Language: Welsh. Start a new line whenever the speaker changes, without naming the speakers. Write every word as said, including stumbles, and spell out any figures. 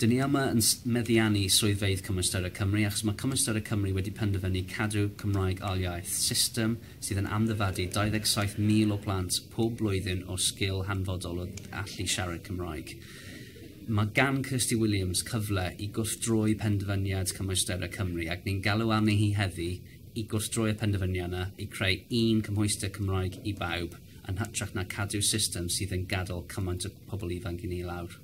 Dyn ni yma yn meddiannu swyddfeydd Cymwysterau Cymru achos mae Cymwysterau Cymru wedi penderfynu cadw Cymraeg ail iaith, system sydd yn amddifadu dau ddeg saith mil o plant pob blwyddyn o sgil hanfodol o allu siarad Cymraeg. Mae gan Kirsty Williams cyfle i gwrthdroi penderfyniad Cymwysterau Cymru ac ni'n galw arni hi heddi i gwrthdroi y penderfyniad yna i creu un cymhwyster Cymraeg i bawb yn hytrach na cadw system sydd yn gadael cymaint o pobl ifanc i ni lawr.